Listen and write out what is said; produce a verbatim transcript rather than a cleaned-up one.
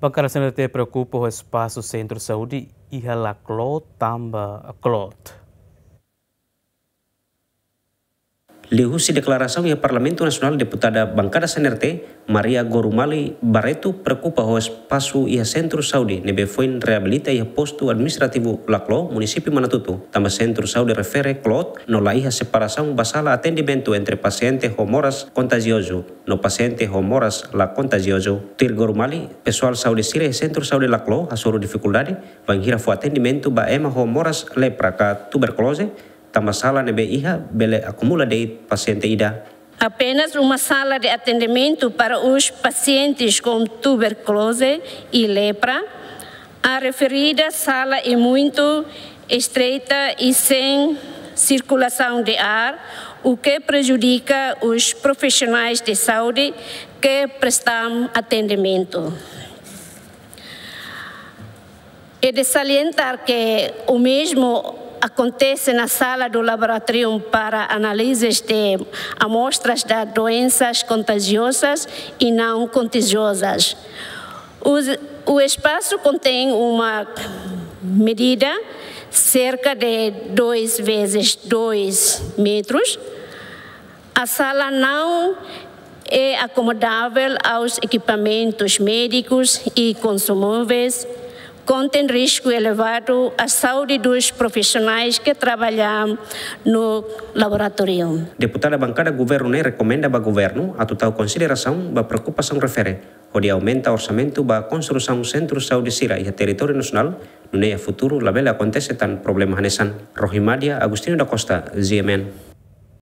Bankada C N R T preokupa ho espasu sentru saúde iha Laclo tanba kloot. Liuhusi deklarasaun iha Parlamentu Nasionál, deputada bankada C N R T, Maria Gorumali Barreto, preokupa ho espasu iha sentru saúde ne'ebé foin reabilita iha postu administrativu Laclo, munisípiu Manatuto, tanba sentru saúde refere kloot no la iha separasaun ba sala atendimentu entre pasiente ho moras kontajiozu no pasiente ho moras la kontajiozu. Tuir Gorumali, pesoál saúde sira iha sentru saúde Laclo hasoru difikuldade bainhira fó atendimentu ba ema ho moras lepra ka tuberkuloze, tanba sala ne'ebé iha bele akumula de'it pasiente ida. Apenas uma sala de atendimento para os pacientes com tuberculose e lepra. A referida sala é muito estreita e sem circulação de ar, o que prejudica os profissionais de saúde que prestam atendimento. É de salientar que o mesmo acontece na sala do laboratório para análises de amostras de doenças contagiosas e não contagiosas. Os, o espaço contém uma medida cerca de dois vezes dois metros. A sala não é acomodável aos equipamentos médicos e consumíveis, contém risco elevado à saúde dos profissionais que trabalham no laboratório. Deputada bankada governu ne'e rekomenda ba governu atu tau konsiderasaun ba preokupasaun refere, hodi aumenta orsamentu ba konstrusaun sentru saúde sira iha territóriu nasionál, nune'e iha futuru labele akontese tan problema hanesan. Rohimadia Agostinho da Costa, G M N.